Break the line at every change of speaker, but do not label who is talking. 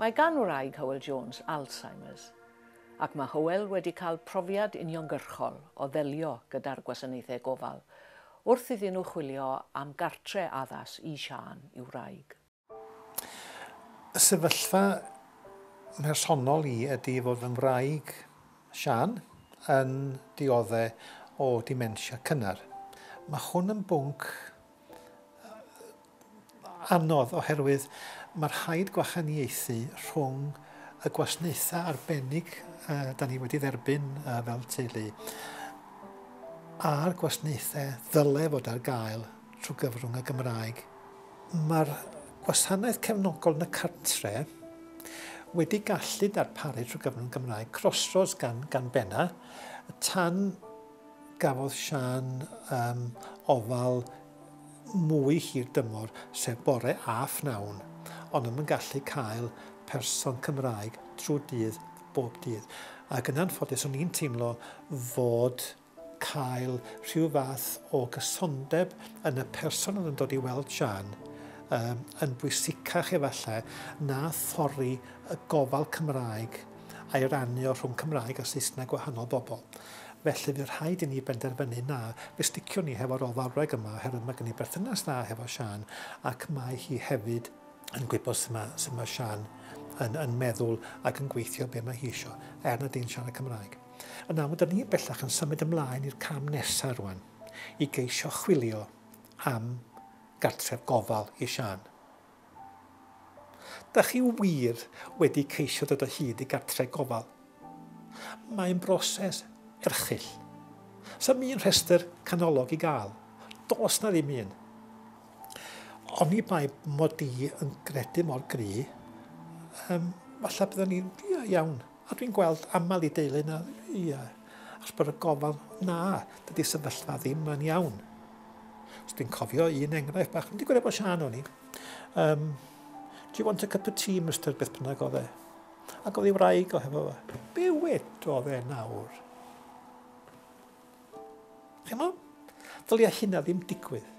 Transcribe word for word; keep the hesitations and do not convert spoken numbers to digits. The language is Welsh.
Mae gan wraig Hywel Jones Alzheimer's, ac mae Hywel wedi cael profiad uniongyrchol o ddelio gyda'r gwasanaethau gofal wrth iddyn nhw chwilio am gartre addas i Siân i'w wraig.
Y sefyllfa personol i ydy fod fy ngwraig Siân yn dioddef o dementia cynnar. Mae hwn yn bwnc anodd oherwydd mae rhaid gwahaniaethu rhwng y gwasanaethau arbennig uh, da ni wedi dderbyn uh, fel teulu a'r gwasanaethau ddyle fod ar gael trwy gyfrwng y Gymraeg. Mae'r gwasanaeth cefnogol yn y cartre wedi gallu darparu trwy gyfrwng Gymraeg Crossroads gan, gan benna tan gafodd Siân um, ofal mwy hir dymor, sef bore a phnawn, ond ddim yn gallu cael person Cymraeg trwy dydd, bob dydd. Ac yn anffodus, o'n i'n teimlo fod cael rhyw fath o gysondeb yn y person oedd yn dod i weld Siân um, yn bwysicach efallai na thorri y gofal Cymraeg a'i rannu o rhwng Cymraeg a Saesneg gwahanol bobl. Felly fydd rhaid i ni benderfynu na, fe sticiwn ni hefo'r ofalwraig yma oherwydd mae gen i berthynas dda hefo Siân ac mae hi hefyd yn gwybod sut mae, sut mae Siân yn, yn meddwl ac yn gweithio be mae hi isio, er nad ydy'n siarad Cymraeg. Yn amlwg, da ni bellach yn symud ymlaen i'r cam nesaf rwan, i geisio chwilio am gartref gofal i Siân. Da chi wir wedi ceisio dod o hyd i gartref gofal? Mae'n broses erchyll. Sa'm un rhestr canolog i gael. Does na ddim un. Oni bai mod i yn gredu mor gry, um, falle byddwn ni'n, ia, iawn. A dwi'n gweld aml i deulu na, ia, achos bod y gofal, na, dydy sefyllfa ddim yn iawn. So dwi'n cofio un enghraifft bach, wedi gwneud bod Siân o'n i. Um, do you want a cup of tea, Mister beth bynnag oedd e? Ac oedd ei wraig o hefo fo. Be wedodd e nawr? Chi'mo? Ddylia hynna ddim digwydd.